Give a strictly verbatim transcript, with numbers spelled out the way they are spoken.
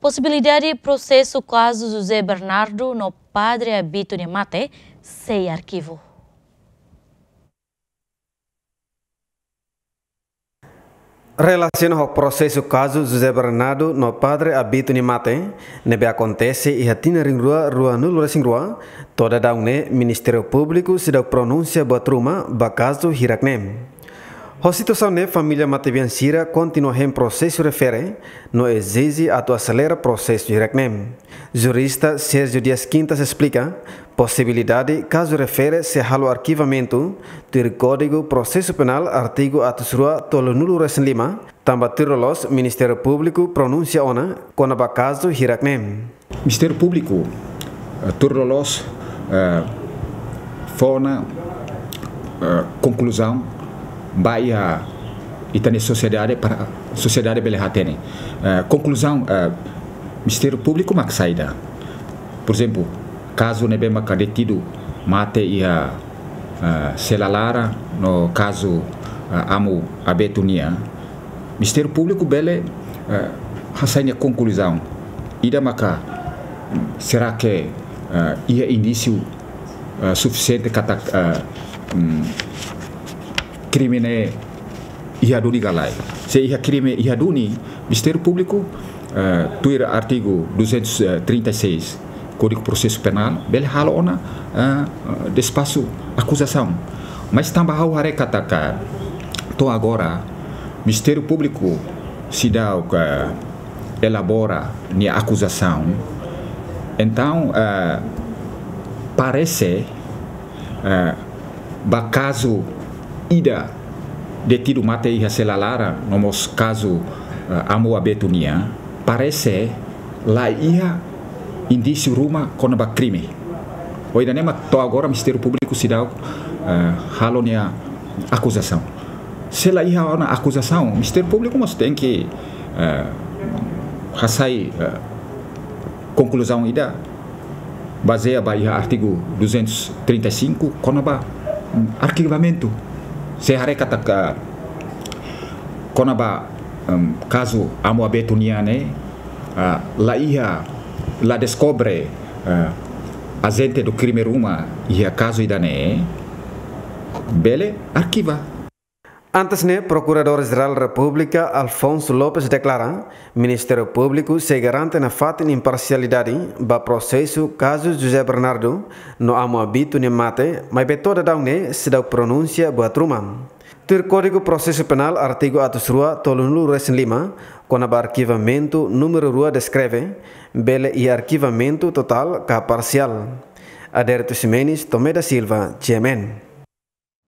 Posibilidade prosesu kazu José Bernardo no Padre Abito nia mate sei arkivu. Relasiona ho prosesu kazu José Bernardo no Padre Abito nia mate, ne'ebé akontese iha tinan rihun rua ruanulu resin rua, to'o daudaun ne'e Ministériu Públiku seidauk pronunsia buat ruma ba kazu hirak ne'e. Ho situasaun ne'e família matebian sira kontinua hein prosesu refere no ezije atu aselera prosesu hirak ne'e. Jurista Sérgio Dias Quintas esplika posibilidade kazu refere sei halo arkivamentu tuir Kódigu Prosesu Penál artigu atus rua tolunulu resin lima, tanba tuir loloos Ministériu Públiku pronunsia ona kona-ba kazu hirak ne'e. Ministériu Públiku, eh, tuir loloos, eh, fó ona, eh, konkluzaun ba iha ita-nia sosiedade para sosiedade bele hatene. Eh, konkluzaun, eh, Ministériu Públiku mak saida. Porezemplu, kazu ne'ebé maka detidu mate iha, eh, sela laran no kazu, eh, Amu Abeto nian, Ministériu Públiku bele, eh, hasai nia konkluzaun. Ida maka, mm, será que, eh, iha indísiu, eh, sufisiente katak, eh, mm, krime ne'e iha duni ka lae? Se iha krime iha duni, Ministériu Públiku, eh, tuir artigu duzentos e trinta e seis Kódigu Prosesu Penál, bele halo ona, eh, despaxu akuzasaun. Mas tanba ha'u haree katak to'o agora Ministériu Públiku seidauk, eh, elabora nia akuzasaun. Entaun, eh, parese, eh, ba kazu ida detidu mate iha sela laran, no mós kazu, eh, Amu Abeto nian, parese la iha indísiu ruma kona-ba krime. Ho ida-ne'e mak to'o agora Ministériu Públiku seidauk, eh, halo nia akuzasaun. Se la iha ona akuzasaun, Ministériu Públiku mós tenke, eh, hasai, eh, konkluzaun ida bazeia ba iha artigu duzentos e trinta e cinco kona-ba, mm, arkivamentu. Se haree katak kona-ba, em, kazu Amu Abeto nian ne'e, ah, la iha, la deskobre, eh, ajente do krime ruma iha kazu ida-ne'e, bele arkiva. Antes ne'e, Prokuradór-Jerál Repúblika Alfonso Lopes deklara, Ministériu Públiku sei garante nafatin imparsialidade ba prosesu kazu José Bernardo no Amu Abeto nia mate, maibé to'o daudaun ne'e seidauk pronunsia buat ruma. Tuir Kódigu Prosesu Penál artigu atus rua tolunulu resin lima, kona-ba arkivamentu númeru rua deskreve, bele iha arkivamentu totál ka parsiál. Adérito Ximenes, Tomé da Silva, G M N.